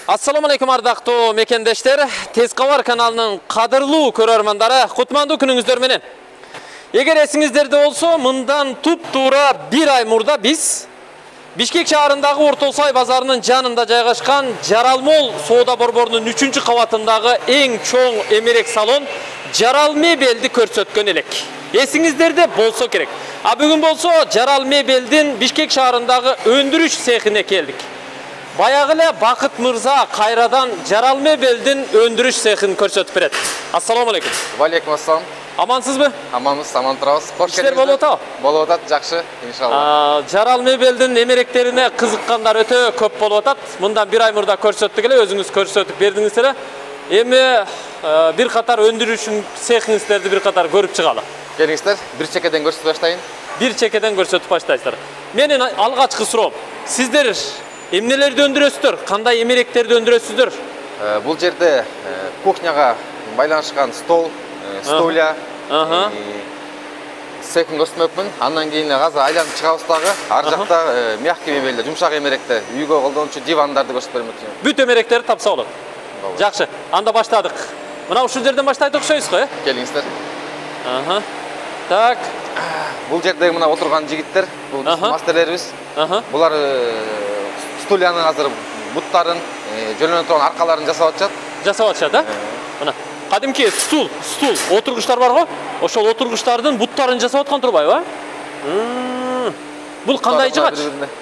Assalamu alaikum ардактуу мекендештер, Тез кабар каналынын кадырлуу көрөрмандары, кутмандуу күнүңүздөр менен. Эгер эсиңиздерде болсо, мындан туп-туура 1 ай мурда биз Бишкек шаарындагы Ортосай базарынын жанында жайгашкан Жаралмол соода борборунун 3-чү кабатындагы эң чоң эмерек салон Жарал мебелди көрсөткөн элек. Эсиңиздерде болсо керек. А бүгүн болсо Жарал мебелдин Бишкек шаарындагы өндүрүш цехине келдик. Баягы эле Бакыт мырза кайрадан Жарал мебелдин өндүрүш цехин көрсөтүп берет. Ассаламу алейкум. Валейкум ассалам. Амансызбы? Аманбыз, аман турабыз. Кош келиңиздер. Болуп атабы? Болуп атат, жакшы, иншалла. Жарал мебелдин эмеректерине кызыккандар өтө көп болуп атат. Мындан 1 ай мурда көрсөттүк эле, өзүңүз көрсөтүп бердиңиз эле. Эми бир катар өндүрүшүн цехиңиздерди бир катар көрүп чыгалы. Келиңиздер, бир чекеден көрсөтүп баштайын. Бир чекеден көрсөтүп баштайсыздар. Менин алгачкы суроом, сиздер эмнелерди өндүрөсүздөр? Кандай эмеректерди өндүрөсүздөр? Бул жерде кухняга байланышкан стол, стулья, цехин көрсөтмөкмүн. Андан кийин азыр айланып чыгабыз дагы. Ар жакта мягкий мебелдер, жумшак эмеректер, үйгө колдончу дивандарды көрсөтүп бермөкчүмүн. Бүт эмеректерди тапса болот. Жакшы, анда баштадык. Мына ушул жерден баштайт окшойсуз го, Келиңиздер. Так. Бул жердеги мына отурган жигиттер, бул мастерлерибиз. Булар стульянын азыр буттарын, жөнөнө турган аркаларын жасап атышат. Жасап атышат, Мына кадимки стул, отургучтар бар го? Ошол отургучтардын буттарын жасап аткан турбайбы? Бул кандай жыгач?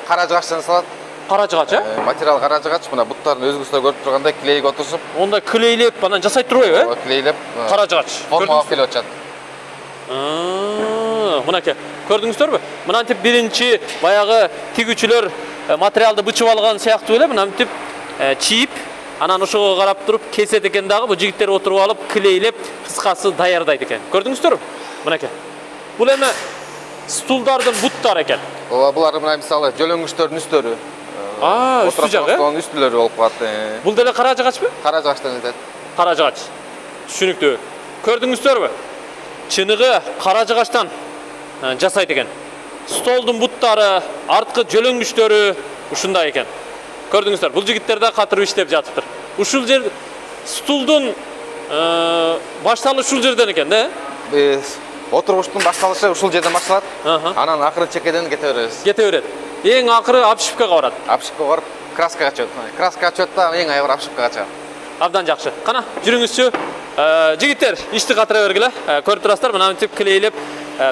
Кара жыгачтан жасалат. Кара жыгач, Материал кара жыгач, мына буттарын өзүңүздөр көрүп тургандай клейге отурсуп. Онда клейлеп анан жасайт турбайбы, Клейлеп. Кара жыгач. Форма алып келип атышат. Мынакей, көрдүңүздөрбү? Мынантип биринчи баягы тигүүчүлөр материалды бычып алган сыяктуу эле, мынантип чийип, анан ошого карап туруп кесет экен дагы, бул жигиттер отуруп алып, клейлеп, кыскасы даярдайт экен. Көрдүңүздөрбү? Мынакей. Бул эми стулдардын буттары экен. Ооба, булар мына мисалы жөлөңгүчтөрдүн үстөрү. Үстү жагы, үстүлөрү болуп калат. Бул деле кара жыгачпы? Кара жыгачтан жасайт. Кара жыгач. Түшүнүктүү. Көрдүңүздөрбү? Чыныгы кара жыгачтан жасайт экен. Столдун буттары, арткы жөлөңгүчтөрү ушундай экен. Көрдүңүздөр, бул жигиттер да катырып иштеп жатыптыр. Ушул жер стулдун башталышы ушул жерден экен, Отургучтун башталышы ушул жерден башталат. Анан акыры чекеден кете беребиз. Кете берет. Эң акыры обшивкага барат. Обшивкага барып, краскага чөт. Краскага чөт да эң айгыр обшивкага чыгат. Абдан жакшы. Кана, жүрүңүзчү. Жигиттер, ишти катыра бергиле. Көрүп турасыздар, мынантип клейлеп,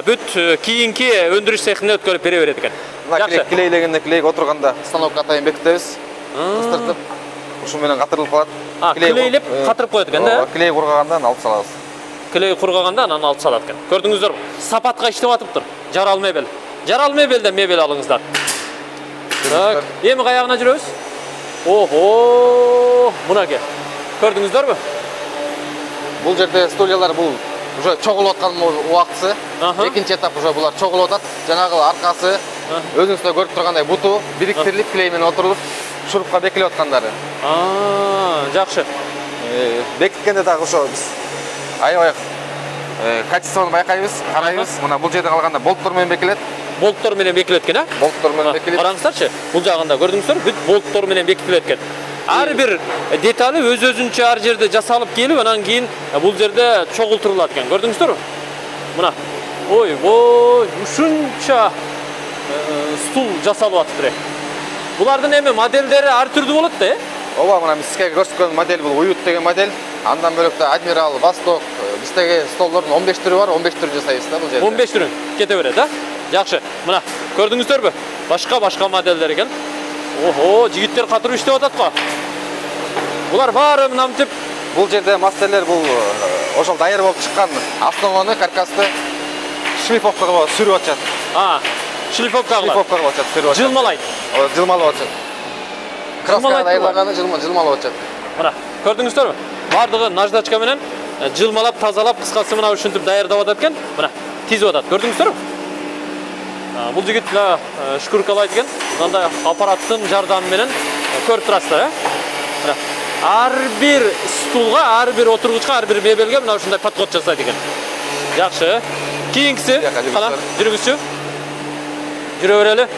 бүт кийинки өндүрүш цехине өткөрүп бере берет экен. Мына клейлегенде клейге отурганда станокко атайын бекитебиз. Кыстыртып, ушул менен катырылып калат. Клейлеп катырып коет экен да? Клей кургагандан алып салабыз. Клей кургагандан анан алып салат экен. Көрдүңүздөрбү? Сапатка иштеп атыптыр. Жарал мебел. Жарал мебелден мебел алыңыздар. Так, эми каягына жүрөбүз? Ого! Мынакей. Көрдүңүздөрбү? Бул жерде стульялар бул уже чогулуп аткан убактысы. Экинчи этап уже булар чогулуп атат. Жанагы аркасы өзүңүздөр көрүп тургандай буту бириктирилип клей менен отурулуп шурупка бекилип аткандары. Жакшы. Бекиткенде дагы ошо биз аябай качествону байкайбыз, карайбыз. Мына бул жерде калганда болттор менен бекилет. Болттор менен бекилет экен, Болттор менен бекилет. Караңыздарчы, бул жагында көрдүңүздөр, бүт болттор менен бекитилет экен. Ар бир детали өз-өзүнчө ар жерде жасалып келип, анан кийин бул жерде чогултурулат экен. Көрдүңүздөрбү? Мына. Ой, ушунча стул жасалып атыптыр. Булардын эми модельдери ар түрдүү болот да, Ооба, мына сизге көрсөткөн модель бул уют деген модель. Андан бөлөк да Адмирал, Восток, биздеги столдордун 15 түрү бар, 15 түрү жасайбыз да бул жерде. 15 түрүн кете берет, Жакшы. Мына, көрдүңүздөрбү? Башка моделдер экен. Ого, жигиттер катырып иштеп атат го. Булар баары мынантип бул жерде мастерлер бул ошол даяр болуп чыккан основаны, каркасты шлифовкага сүрүп атышат. Шлифовка кылат. Шлифовка кылып атышат, сүрүп атышат. Жылмалайт. Жылмалып атышат. Краска даярлаганы жылмалып атышат. Мына, көрдүңүздөрбү? Бардыгы наждачка менен жылмалап, тазалап, кыскасы мына ушинтип даярдап атат экен. Мына, тизип атат. Көрдүңүздөрбү? Бул жигит шкуркалайт экен. Мындай аппараттын жардамы менен көрүп турасыздар, Мына, ар бир стулга, ар бир отургучка, ар бир мебелге мына ушундай подход жасайт экен. Жакшы. Кийинкиси, кана, жүрүңүзчү. Жүрө берели.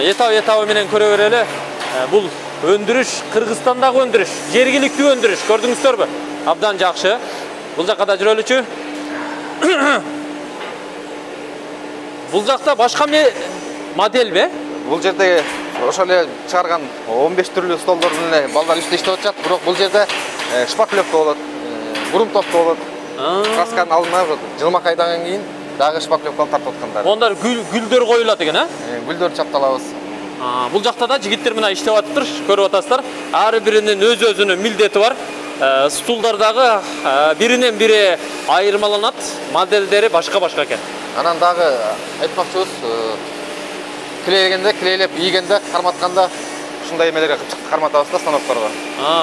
Этабы менен көрө берели. Бул өндүрүш, Кыргызстандагы өндүрүш, жергиликтүү өндүрүш. Көрдүңүздөрбү? Абдан жакшы. Бул жакка да жүрөлүчү. Бул жакта башка моделби? Бул жерде ошол эле чыгарган 15 түрлүү столдордун эле балдар үстү иштеп атышат. Бирок бул жерде шпаклевка болот, грунтовка болот. Красканы алынып, жылмак айдагандан кийин дагы шпаклевканы тартып аткандар. Ондар гүлдөр коюлат экен, а? Гүлдөр чапталабыз. Бул жакта да жигиттер менен иштеп атыптыр, көрүп атасыздар. Ар биринин өз-өзүнүн милдети бар. Стулдардагы биринен бири айырмаланат, моделдери башка-башка экен. Анан дагы айтмакчыбыз, клейлегенде, клейлеп ийгенде, карматканда ушундай эмелерге карматабыз да станокторго.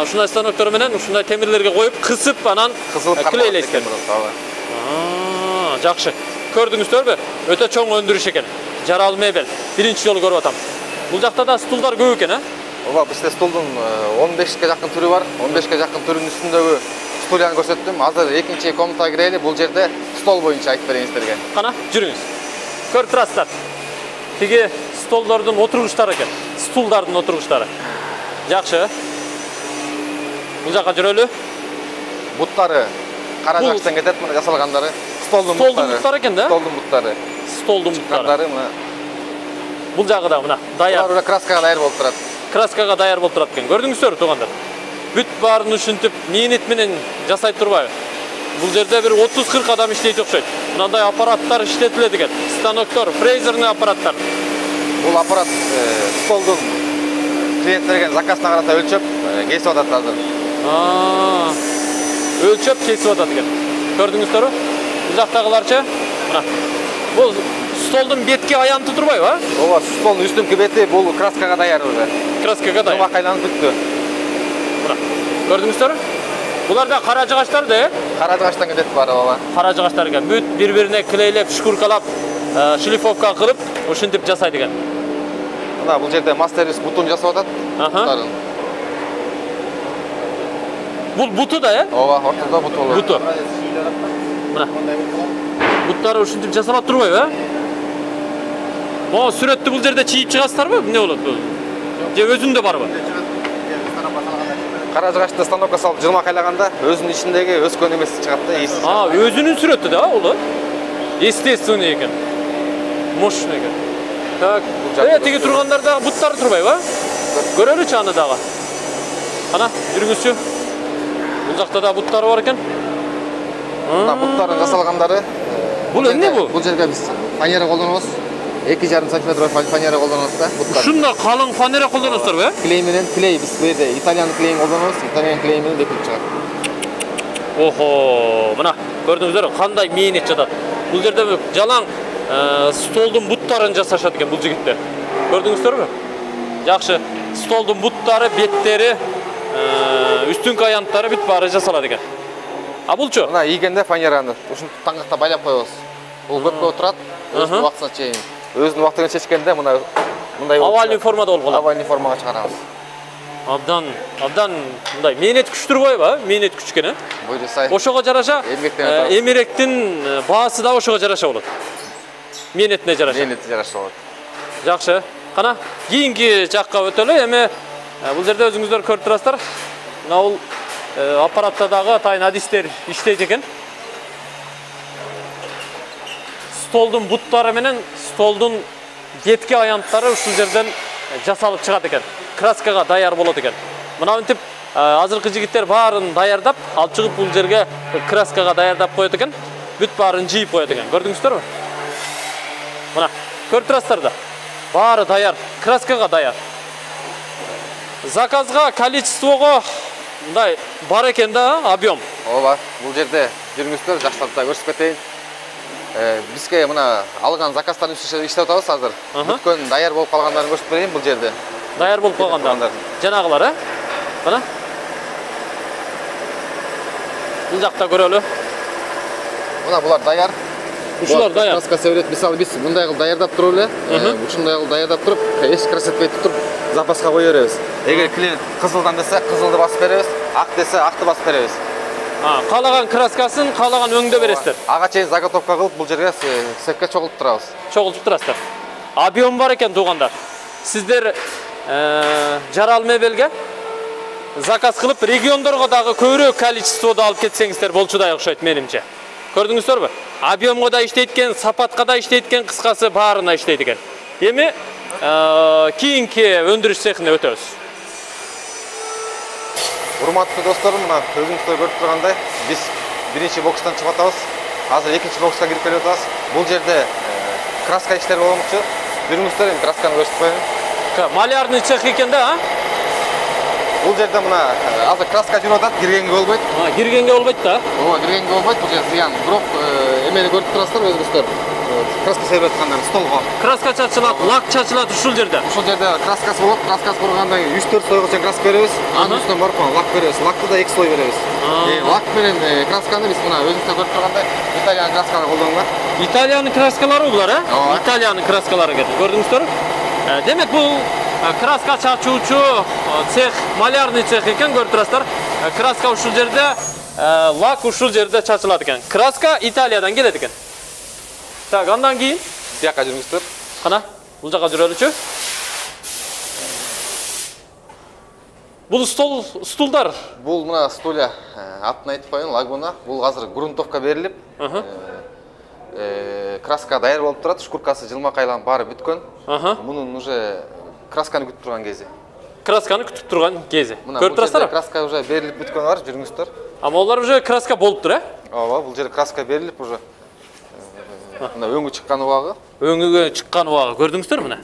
Ушундай станоктор менен ушундай темирлерге коюп, кысып, анан клейлейсиз. Жакшы. Көрдүңүздөрбү? Өтө чоң өндүрүш экен. Жарал мебель. Биринчи жолу көрүп атам. Бул жакта да стулдар көп экен, а? Ооба, бизде стулдун 15ке жакын түрү бар. 15ке жакын түрүнүн үстүндөгү стульяны көрсөттүм. Азыр экинчи комнатага кирели. Бул жерде стол боюнча айтып берейин силерге. Кана, жүрүңүз. Көрүп турасыздар. Тиги столдордун отургучтары экен. Стулдардын отургучтары. Жакшы. Бул жакка жүрөлү. Буттары кара жакштан кетет, мына жасалгандары. Столдун буттары экен да? Столдун буттары. Столдун буттары. Бул жагы да мына даяр. Булар краскага даяр болуп турат. Краскага даяр болуп турат экен. Көрдүңүздөрбү, туугандар? Бүт баарын ушинтип мээнет менен жасайт турбайбы? Бул жерде бир 30-40 адам иштейт окшойт. Мындай аппараттар иштетилет экен. Станоктор, фрезерный аппараттар. Бул аппарат столдун клиент берген заказына карата өлчөп кесип атат азыр. Өлчөп кесип атат экен. Көрдүңүздөрбү? Бул жактагыларчы? Мына. Бул столдун бетки аянты турбайбы, а? Ооба, столдун үстүнкү бети бул краскага даяр уже. Краскага даяр. Жылмак айланып бүттү. Мына. Көрдүңүздөрбү? Булар да кара жыгачтар да, Кара жыгачтан кетет баары, ооба. Кара жыгачтар экен. Бүт бири-бирине клейлеп, шкуркалап, шлифовка кылып, ушинтип жасайт экен. Мына бул жерде мастерис бутун жасап атат. Бул буту да, Ооба, ортодо буту болот. Буту. Мына. Буттары ушинтип жасалат турбайбы, а? Могу сүрөттү бул жерде чийип чыгасыздарбы? Эмне болот бул? Же өзүндө барбы? Кара жыгачты станокко салып жылмак айлаганда өзүнүн ичиндеги өскөн эмеси чыгат да, эси. Өзүнүн сүрөтү да, ол. Естественный экен. Мощный экен. Так. Тиги тургандарда буттары турбайбы, а? Көрөлүчү аны дагы. Кана, жүрүңүзчү. Бул жакта да буттары бар экен. Мына буттардын жасалгандары. Бул эмне бул? Бул жерге биз фанера колдонобуз. 2,5 см фанера колдонобуз да, буттар. Ушунда калың фанера колдоносуздарбы, э? Клей менен, клей биз бу жерде итальян клейин колдонобуз. Итальян клей менен бекитип чыгат. Охо, мына көрдүңүздөр кандай мээнет жатат. Бул жерде жалаң столдун буттарын жасашат экен бул жигиттер. Көрдүңүздөрбү? Жакшы. Столдун буттары, беттери, үстүнкү аянттары бүт баары жасалат экен. А булчу? Мына ийгенде фанераны ушинтип таңгакта байлап коебуз. Бул көпкө отурат, өзүнүн убактысына чейин. Өзүнүн убактыгын чечкенде мындай овальный формада болуп калат. Овальный формага чыгарабыз. Абдан мындай мээнет күч турбайбы, а? Мээнет күч экен, э? Буйру сай. Ошого жараша эмеректин баасы да ошого жараша болот. Мээнетине жараша. Мээнети жараша болот. Жакшы. Кана, кийинки жакка өтөлү. Эми бул жерде өзүңүздөр көрүп турасыздар. Мына бул аппаратта дагы атайын адистер иштейт экен. Столдун буттары менен столдун бетки аянттары ушул жерден жасалып чыгат экен. Краскага даяр болот экен. Мына мынтип азыркы жигиттер баарын даярдап, алып чыгып бул жерге краскага даярдап коет экен. Бүт баарын жийип коет экен. Көрдүңүздөрбү? Мына, көрүп турасыздар да. Баары даяр, краскага даяр. Заказга, количествого мындай бар экен да, объем. Ооба, бул жерде жүрүңүздөр, жакшылап да көрсөтүп кетейин. Бизге мына алган заказдардын үстүнө иштеп атабыз азыр. Бүткөн даяр болуп калгандарын көрсөтүп берейин бул жерде. Даяр болуп калгандар. Жанагылар, э? Мына. Бул жакта көрөлү. Мына булар даяр. Ушулар даяр. Краска себерет, мисалы биз мындай кылып даярдап туруп эле, ушундай кылып даярдап туруп, эч көрсөтпөй туруп запаска кое беребиз. Эгер клиент кызылдан десе, кызылды басып беребиз, ак десе, акты басып беребиз. Каалаган краскасын, каалаган өңдө бересиздер. Ага чейин заготовка кылып бул жерге сепке чогултуп турабыз. Чогултуп турасыздар. Объем бар экен туугандар. Сиздер жарал мебелге заказ кылып, региондорго дагы көбүрөөк количестводо алып кетсеңиздер болчудай окшойт менимче. Көрдүңүздөрбү? Объемго да иштейт экен, сапатка да иштейт экен, кыскасы баарына иштейт экен. Эми кийинки өндүрүш цехине өтөбүз. Урматтуу достор, мына өзүңүздөр көрүп тургандай, биз биринчи бокстан чыгып атабыз. Азыр экинчи бокска кирип келип атабыз. Бул жерде краска иштери болмокчу. Жүрүңүздөр, эми красканы көрсөтүп коеюн. Малярный цех экен да, а? Бул жерде мына азыр краска жүрүп атат, киргенге болбойт. Киргенге болбойт да? Ооба, киргенге болбойт. Бул жер зыян. Бирок эмени көрүп турасыздар өзүңүздөр. Краска себип аткандар столго. Краска чачылат, лак чачылат ушул жерде. Ушул жерде краскасы болот. Краскасы болгондон кийин 3-4 слойго чейин краска беребиз. Анын үстүнөн барып лак беребиз. Лакты да 2 слой беребиз. Лак менен красканы биз мына өзүңүздөр көрүп тургандай Италиянын краскалары колдонулат. Италиянын краскалары булар, Ооба. Италиянын краскалары экен. Көрдүңүздөрбү? Демек бул краска чачуучу цех, малярный цех экен, көрүп турасыздар. Краска ушул жерде, лак ушул жерде чачылат экен. Краска Италиядан келет экен. Так, андан кийин Бияка жүрүңүздөр. Кана, бул жака жүрөлүчү. Бул стулдар. Бул мына стулья, атын айтып коеюн, лагуна. Бул азыр грунтовка берилип, краска даяр болуп турат, шкуркасы жылмакайлан баары бүткөн. Мунун уже красканы күтүп турган кези. Красканы күтүп турган кези. Көрүп турасыздар? Краска уже берилип бүткөн бар, жүрүңүздөр. Ама олар уже краска болуптур, Ооба, бул жерде краска берилип уже. Мына өңү чыккан убагы. Өңүгө чыккан убагы көрдүңүздөрбү мына?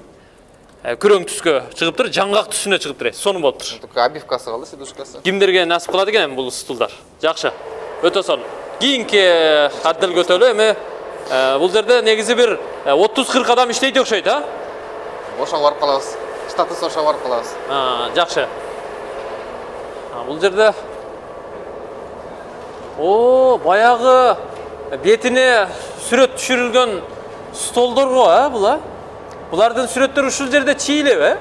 Күрөң түскө чыгыптыр, жаңгак түсүнө чыгыптыр. Сону болуптур. Обивкасы калды, сидушкасы. Кимдерге насип кылат экен бул стулдар? Жакшы. Өтө сонун. Кийинки отделге өтөлү. Эми бул жерде негизи бир 30-40 адам иштейт окшойт, а? Ошого барып калабыз. Штатыбыз ошого барып калабыз. Жакшы. Бул жерде баягы бетине сүрөт түшүрүлгөн столдорго, була? Булардын сүрөттөрү ушул жерде чийилеби?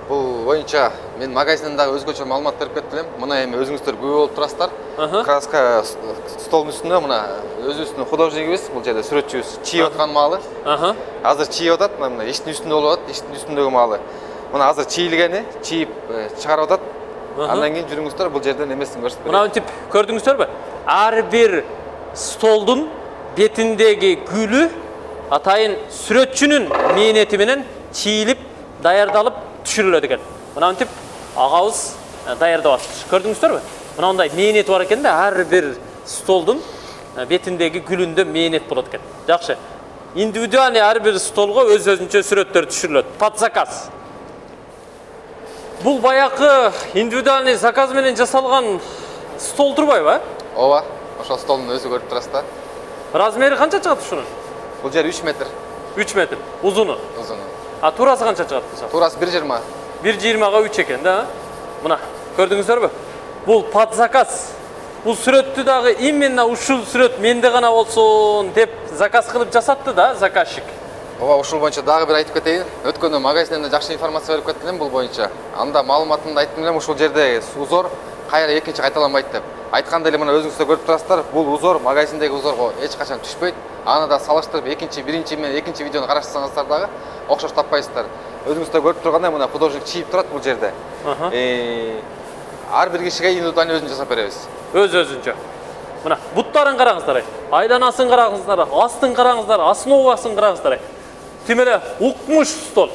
Бул боюнча мен магазинден дагы өзгөчө маалымат берип кеттим. Мына эми өзүңүздөр күбө болуп турасыздар. Краска столдун үстүндө мына өзүбүздүн художникибиз бул жерде сүрөтчүбүз чийип аткан маалы. Азыр чийип атат, мына эшиктин үстүндө болуп атат, эшиктин үстүндөгү маалы. Мына азыр чийилгени, чийип чыгарып атат. Андан кийин жүрүңүздөр, бул жерден эмесин көрсөтүп берем. Мына тип көрдүңүздөрбү? Ар бир столдун бетиндеги гүлү атайын сүрөтчүнүн мээнети менен чийилип, даярдалып түшүрүлөт экен. Мына тип агабыз даярдап атат. Көрдүңүздөрбү? Мына мындай мээнети бар экен да, ар бир столдун бетиндеги гүлүндө мээнет болот экен. Жакшы. Индивидуальный ар бир столго өз-өзүнчө сүрөттөр түшүрүлөт. Под заказ. Бул баякы индивидуальный заказ менен жасалган стол турбайбы? Ооба, ошол столдун өзү көрүп турасыз да. Размери канча чыгат ушунун? Бул жер 3 метр. 3 метр. Узуну? Узуну. Турасы канча чыгат? Турасы 1,20. 1,20га 3 экен да. Мына, көрдүңүздөрбү? Бул под заказ. Бул сүрөттү дагы именно ушул сүрөт менде гана болсун деп заказ кылып жасатты да заказчик. Ооба, ушул боюнча дагы бир айтып кетейин. Өткөндө магазинден жакшы информация берип кеттим элем бул боюнча. Анда маалыматымды айттым элем, ушул жерде узор кайра экинчи кайталанбайт деп. Айткандай эле мына өзүңүздөр көрүп турасыздар, бул узор магазиндеги узорго эч качан түшпөйт. Аны да салыштырып биринчи менен экинчи видеону карашсаңыздар дагы окшош таппайсыздар. Өзүңүздөр көрүп тургандай мына художник чийип турат бул жерде. Ар бир кишиге индивидуальный өзүн жасап беребиз. Өз-өзүнчө. Мына буттарын караңыздар. Айланасын караңыздар, астын караңыздар, основасын караңыздар. Тим эле укмуш стол.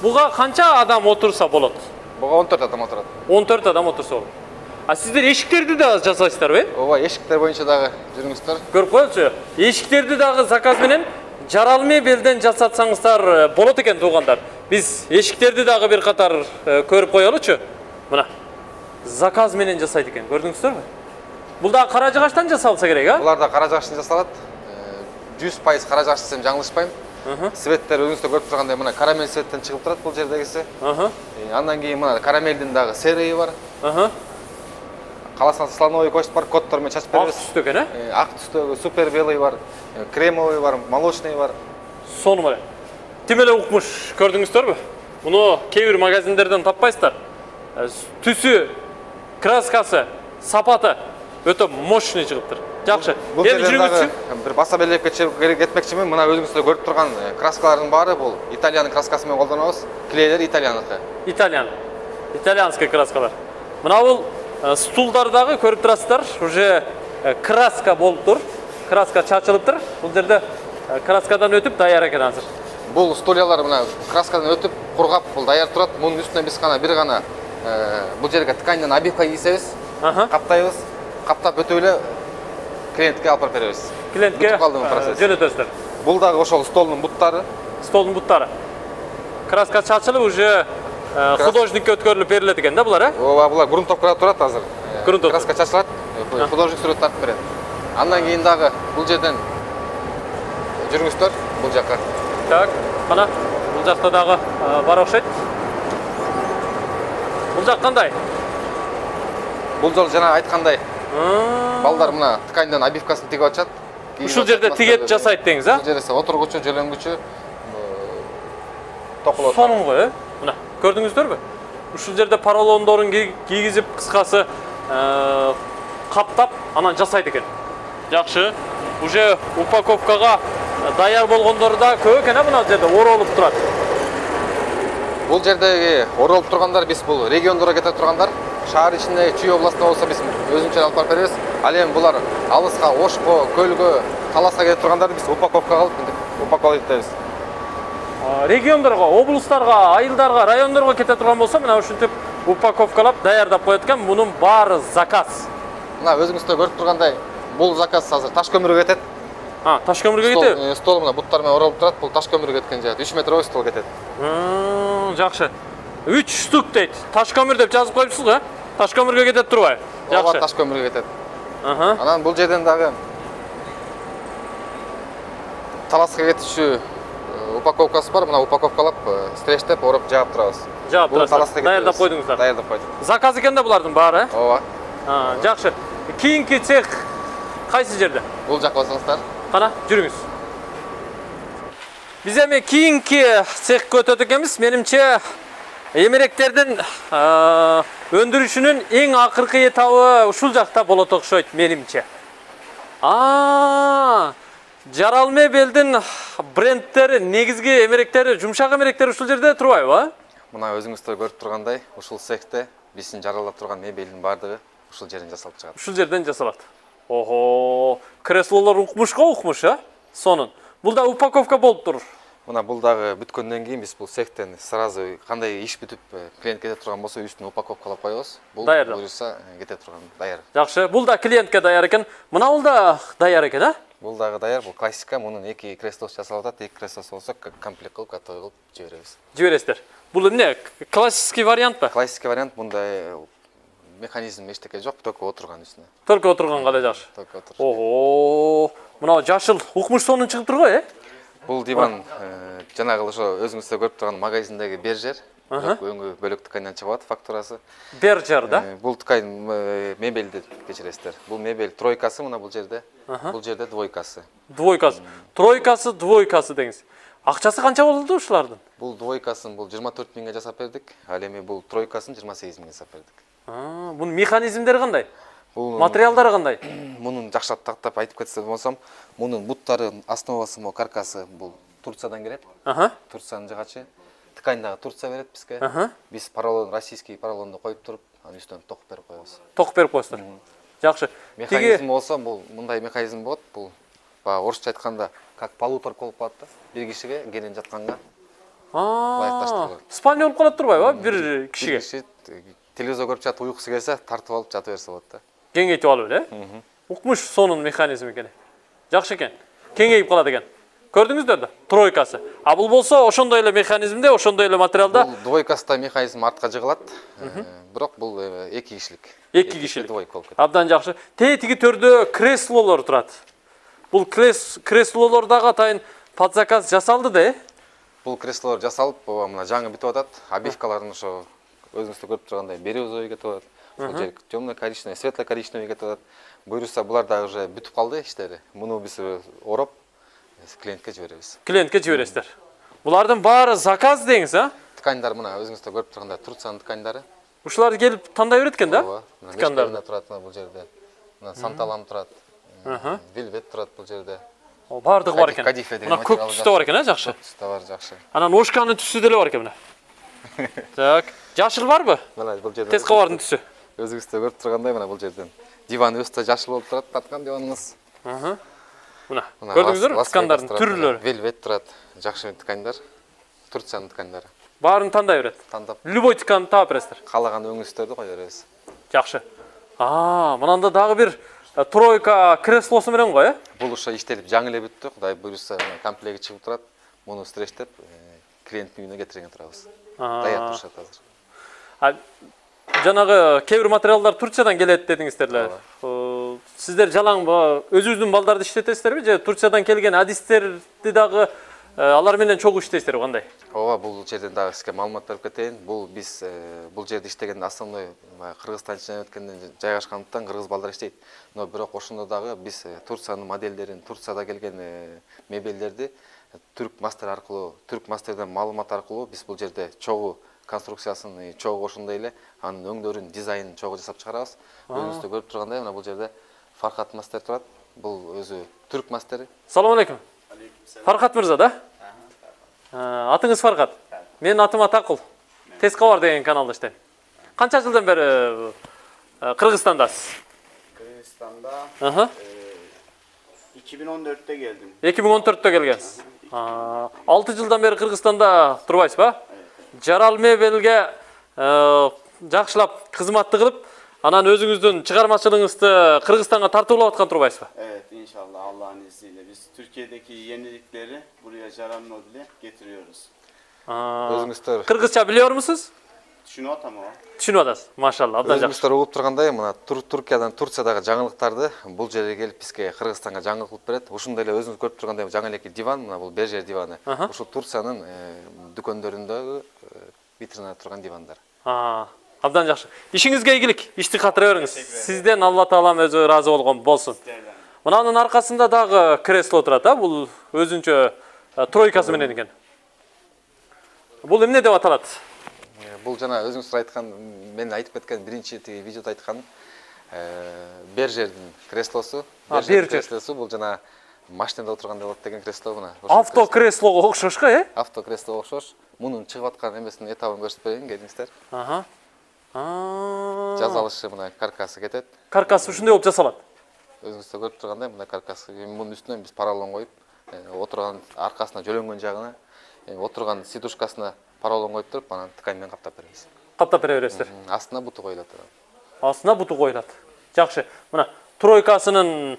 Буга канча адам отурса болот? Буга 14 адам отурат. 14 адам отурса болот. Сиздер эшиктерди да жасайсыздарбы? Ооба, эшиктер боюнча дагы жүрүңүздөр. Көрүп коелучу. Эшиктерди дагы заказ менен жарал мебелден жасатсаңыздар болот экен туугандар. Биз эшиктерди дагы бир катар көрүп коелучу. Мына. Заказ менен жасайт экен. Көрдүңүздөрбү? Бул да кара жыгачтан жасалса керек, а? Булар да кара жыгачтан жасалат. 100% кара жыгач десем жаңылышпайм. Светтер өзүңүздөр көрүп тургандай мына карамель светтен чыгып турат бул жердегиси. Андан кийин мына карамелдин дагы серийи бар. Каласаңыз слоновый кость бар, коддор менен чачып беребиз. Ак түстө экен, Ак түстөгү супер белый бар, кремовый бар, молочный бар. Сону менен. Тим эле укмуш, көрдүңүздөрбү? Муну кээ бир магазиндерден таппайсыздар. Түсү, краскасы, сапаты Өтө мощный чыгыптыр. Жакшы. Бул жерден бир баса белеп кетмекчимин. Мына өзүңүздөр көрүп турган краскалардын баары бул Италиянын краскасы менен колдонобуз. Клейлер Италияныкы. Итальянский краскалар. Мына бул стулдардагы көрүп турасыздар, уже краска болуптур. Краска чачылыптыр. Бул жерде краскадан өтүп даяр экен азыр. Бул стульялар мына краскадан өтүп, кургап, бул даяр турат. Мунун үстүнө биз бир гана бул жерге тканьдан обивка кийсебиз, каптайбыз. Каптап өтүп эле клиентке алып барып беребиз. Клиентке жөнөтөсүздөр. Бул дагы ошол столдун буттары. Краска чачылып уже художникке өткөрүлүп берилет экен да булар, Ооба, булар грунтовкада турат азыр. Грунтовка. Краска чачылат, художник сүрөт тартып берет. Андан кийин дагы бул жерден жүрүңүздөр бул жакка. Так, кана бул жакта дагы бар окшойт. Бул жак кандай? Бул жол жана айткандай. Балдар мына тканьдан обивкасын тигип атышат. Ушул жерде тигет жасайт деңиз, Бул жерде отургучу, жөлөнгүчү токулот. Сонун мына көрдүңүздөрбү? Ушул жерде поролондорун кийгизип, кыскасы каптап, анан жасайт экен. Жакшы. Уже упаковкага даяр болгондор да көп экен, мына жерде оролуп турат. Бул жердеги оролуп тургандар биз бул региондорго кете тургандар. Шаар ичинде Чүй областында болсо биз өзүнчө алып барып беребиз. Ал эми булар алыска, Ошко, Көлгө, Таласка кете тургандарды биз упаковкага алып упаковать этебиз. Региондорго, облустарга, айылдарга, райондорго кете турган болсо, мына ушинтип упаковкалап даярдап коет экен. Мунун баары заказ. Мына өзүңүздөр көрүп тургандай, бул заказ азыр таш көмүргө кетет. Таш көмүргө кетеби? Стол мына буттар менен оролуп турат. Бул таш көмүргө кеткен жер. 3 метровой стол кетет. Жакшы. 3 штук дейт. Таш көмүр деп жазып коюпсуз го? Таш көмүргө кетет турбайбы? Ооба, таш көмүргө кетет. Анан бул жерден дагы Таласка кетүүчү упаковкасы бар. Мына упаковкалап, стрештеп, ороп жаап турабыз. Жаап турасыздар. Даярдап койдуңуздар. Даярдап койдук. Заказ экен да булардын баары, Ооба. Жакшы. Кийинки цех кайсы жерде? Бул жакка басыңыздар. Кана, жүрүңүз. Биз эми кийинки цехке өтөт экенбиз. Менимче эмеректердин өндүрүшүнүн эң акыркы этабы ушул жакта болот окшойт, менимче. Жарал мебелдин брендтери, негизги эмеректери, жумшак эмеректери ушул жерде турбайбы? Мына өзүңүздөр көрүп тургандай, ушул цехте биздин жаралап турган мебелдин баардыгы ушул жерден жасалып чыгат. Ушул жерден жасалат. Ого, креслолор укмуш, сонун. Бул да упаковка болуп тур. Мына бул дагы бүткөндөн кийин биз бул цехтен сразу кандай иш бүтүп клиент кете турган болсо үстүнө упаковкалап коебуз. Бул буюрса кете турган даяр. Жакшы, бул да клиентке даяр экен. Мына бул да даяр экен, Бул дагы даяр, бул классика. Мунун 2 креслосы жасалып атат. 2 креслосы болсо комплект кылып, готовый кылып жиберебиз. Жибересиздер. Бул эмне? Классический вариантпы? Классический вариант. Мындай механизм эчтеке жок, только отурган үстүнө. Только отурганга эле жакшы. Только отур. Ого, мына жашыл укмуш сонун чыгып турго, Бул диван жанагы ошо өзүңүздөр көрүп турган магазиндеги бержер. Өңгө бөлөк тканьдан чыгып атат фактурасы. Бержер да? Бул ткань мебелди кечиресиздер. Бул мебель тройкасы мына бул жерде. Бул жерде двойкасы. Двойкасы. Тройкасы, двойкасы деңиз. Акчасы канча болду ушулардын? Бул двойкасын бул 24 миңге жасап бердик. Ал эми бул тройкасын 28 миңге жасап бердик. Бунун механизмдери кандай? Материалдары кандай? Мунун жакшырак тактап айтып кетсем болсом, мунун буттары основасы мо каркасы бул Турциядан келет. Турциянын жыгачы. Ткань дагы Турция берет бизге. Биз поролон, российский поролонду коюп туруп, анын үстүнө токуп берип коебуз. Токуп берип коесуздар. Жакшы. Механизм болсо, бул мындай механизм болот. Бул баягы орусча айтканда как полуторка болуп калат да. Бир кишиге кенен жатканга лайыкташтырылат. Спальня болуп калат турбайбы бир кишиге? Телевизор көрүп жатып уйкусу келсе, тартып алып жата берсе болот да. Кеңейтип алып эле? Укмуш сонун механизм экен. Жакшы экен. Кеңейип калат экен. Көрдүңүздөр да? Тройкасы. А бул болсо ошондой эле механизмде, ошондой эле материалда. Бул двойкасында механизм артка жыгылат. Бирок бул 2 кишилик. 2 кишилик. Двойка болуп кетет. Абдан жакшы. Тетиги төрдө креслолор турат. Бул креслолор дагы атайын под заказ жасалды да? Бул креслолор жасалып, мына жаңы бүтүп атат. Обивкаларын ошо өзүңүздөр көрүп тургандай бирюзовый кетип атат. Бул жер темно-коричневый, светло-коричневый кетип атат. Буюрса булар дагы уже бүтүп калды иштери. Муну биз ороп клиентке жиберебиз. Клиентке жибересиздер. Булардын баары заказ деңиз, Тканьдар мына өзүңүздөр көрүп тургандай Турциянын тканьдары. Ушулар келип тандай берет экен да? Тканьдар турат бул жерде. Мына санталам турат. Вельвет турат бул жерде. Бардыгы бар экен. Кадифе деген Мына көк түстө бар экен, жакшы. Түстө бар, жакшы. Анан ошканын түсү деле бар экен мына. Так, жашыл барбы? Мына бул жерде. Тез кабардын түсү. Өзүңүздө көрүп тургандай мына бул жерден. Диван өстө жашыл болуп турат, таткан диваныңыз. Мына, көрдүңүздөрбү? Ткандардын түрлөрү. Вельвет турат, жакшы ткандар. Турциянын ткандары. Баарын тандай берет. Тандап. Любой тканды таап бересиздер. Каалаган өңүңүздөрдү кое беребиз. Жакшы. Мынанда дагы бир тройка креслосу менен го, Бул ошо иштелип жаңы эле бүттү. Кудай буйруса, комплект чыгып турат. Муну стрештеп, клиенттин үйүнө кетирген турабыз. Даят турушат азыр. Жанагы кээ бир материалдар Турциядан келет дедиңиздер. Сиздер жалаң өзүңүздүн балдарды иштетесиздерби же Турциядан келген адистерди дагы алар менен чогуу иштейсиздерби, кандай? Ооба, бул жерден дагы сизге маалымат берип кетейин. Биз бул жерде иштеген основной Кыргызстан ичинен өткөндөн жайгашкандыктан кыргыз балдар иштейт. Но бирок ошондо дагы биз Турциянын модельдерин, Турцияда келген мебелдерди түрк мастер аркылуу, түрк мастерден маалымат аркылуу биз бул жерде чогуу конструкциясын, чогуу ошондой эле анын өңдөрүн, дизайнын чогуу жасап чыгарабыз. Өзүңүздөр көрүп тургандай, мына бул жерде Фархат мастер турат. Бул өзү түрк мастери. Салам алейкум. Фархат мырза да? Атыңыз Фархат. Менин атым Атакул. Тез кабар деген каналда иштейм. Канча жылдан бери Кыргызстандасыз? Кыргызстанда 2014'te geldim. 2014'te келгенсиз. 6 жылдан бери Кыргызстанда турбайсызбы? Жарал мебелге жакшылап кызматты кылып, анан өзүңүздүн чыгармачылыгыңызды Кыргызстанга тартуулап аткан турбайсызбы? Evet, inşallah Allah'ın izniyle biz Türkiye'deki yenilikleri buraya Jaral Mobil'e getiriyoruz. Өзүңүздөр Кыргызча билиyor musunuz? Düşünüyor tamam. Түшүнүп атасыз. Машалла, абдан жакшы. Өзүңүздөр угуп тургандай, мына Туркиядан, Турциядагы жаңылыктарды бул жерге келип бизге Кыргызстанга жаңылык кылып берет. Ошондой эле өзүңүз көрүп тургандай жаңы элеки диван, мына бул Бержер диваны. Ушул Турциянын дүкөндөрүндөгү витринада турган дивандар. Абдан жакшы. Ишиңизге ийгилик, ишти катыра бериңиз. Сизден Алла Таалам өзү ыраазы болгон болсун. Мынанын аркасында дагы кресло турат, бул өзүнчө тройкасы менен экен. Бул эмне деп аталат? Бул жана өзүңүздөр айткан, мен айтып кеткен биринчи видеодо айткан Бержердин креслосу. Бержер креслосу бул жана машинада отурганда болот деген кресло мына. Авто креслого окшош го, Авто креслого окшош. Мунун чыгып аткан эмесинин этабын көрсөтүп берейин, келиңиздер. Жазалышы мына каркасы кетет. Каркасы ушундай болуп жасалат. Өзүңүздөр көрүп тургандай мына каркасы. Мунун үстүнөн биз поролон коюп, отурган аркасына жөлөнгөн жагына, отурган сидушкасына поролон коюп туруп, анан ткань менен каптап беребиз. Каптап бере бересиздер. Астына буту коюлат. Астына буту коюлат. Жакшы. Мына тройкасынын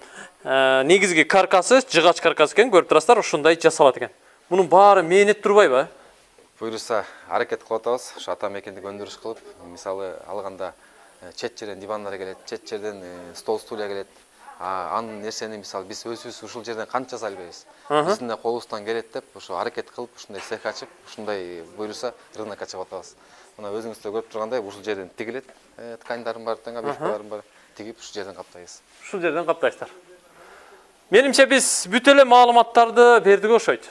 негизги каркасы, жыгач каркасы экен, көрүп турасыздар, ушундай жасалат экен. Мунун баары мээнет турбайбы? Буйруса аракет кылып атабыз. Ушу ата мекендик өндүрүш кылып, мисалы алганда чет жерден дивандар келет, чет жерден стол стулья келет. Анын нерсени мисалы биз өзүбүз ушул жерден канча жасай албайбыз. Биздин да колубуздан келет деп, ошо аракет кылып, ушундай цех ачып, ушундай буйруса рынокко чыгып атабыз. Мына өзүңүздөр көрүп тургандай, ушул жерден тигилет, тканьдардын баары тең, объектилердин баары тигип, ушул жерден каптайбыз. Ушул жерден каптайсыздар. Менимче биз бүт эле маалыматтарды бердик окшойт.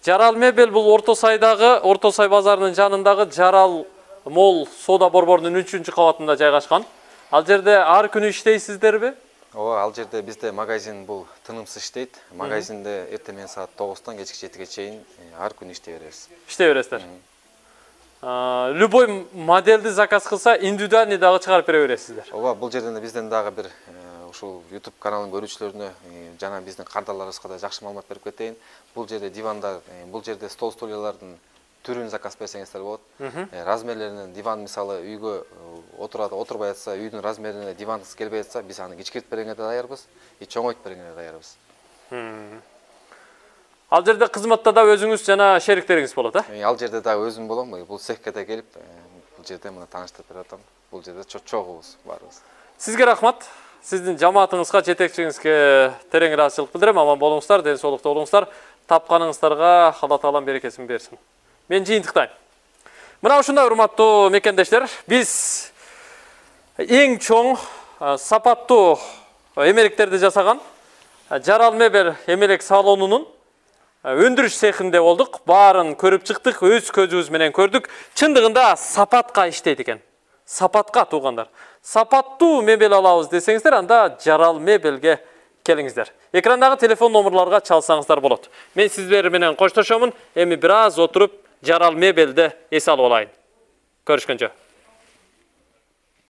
Жарал мебель бул Орто Сай базарынын жанындагы Жарал Мол соода борборунун 3-кабатында жайгашкан. Ал жерде ар күнү иштейсиздерби? Ооба, ал жерде бизде магазин бул тынымсыз иштейт. Магазинде эртең менен саат 9-тан кечки 7-ге чейин ар күнү иштей беребиз. Иштей бересиздер. Любой модельди заказ кылса, индивидуальный дагы чыгарып бере бересиздер. Ооба, бул жерден бизден дагы бир ушул YouTube каналын көрүүчүлөрүнө жана биздин кардарларыбызга да жакшы маалымат берип кетейин. Бул жерде дивандар, бул жерде стол стульялардын түрүн заказ берсеңиздер болот. Размерлеринен диван мисалы үйгө отурбай атса, үйдүн размерине диваныңыз келбей атса, биз аны кичкиртип бергенге да даярбыз, чоңойтуп бергенге да даярбыз. Ал жерде кызматта да өзүңүз жана шериктериңиз болот, Ал жерде дагы өзүм болом, бул цехке да келип, бул жерде мына тааныштырып берип атам. Бул жерде чогубуз барыбыз. Сизге рахмат. Сиздин жамаатыңызга, жетекчиңизге терең ыраазычылык билдирем. Аман болуңуздар, ден соолукта болуңуздар. Тапканыңыздарга Алла Таалам берекесин берсин. Мен жыйынтыктайм. Мына ушундай урматтуу мекендештер, биз эң чоң сапаттуу эмеликтерди жасаган Жарал мебель эмелек салонунун өндүрүш цехинде болдук. Баарын көрүп чыктык, өз көзүбүз менен көрдүк. Чындыгында сапатка иштейт экен. сапатка туугандар. Сапаттуу мебель алабыз десеңиздер, анда Жарал мебелге келиңиздер. Экрандагы телефон номерларга чалсаңыздар болот. Мен сиздер менен коштошомун. Эми бир аз отуруп Жарал мебелде эс алып алайын. Көрүшкөнчө.